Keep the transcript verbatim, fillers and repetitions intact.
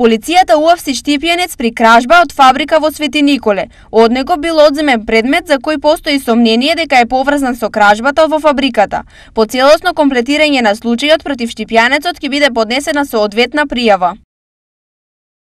Полицијата уапси штипјенец при кражба од фабрика во Свети Николе. Од него бил одземен предмет за кој постои сомнение дека е поврзан со кражбата во фабриката. По целосно комплетирање на случајот против штипјанецот ќе биде поднесена соодветна пријава.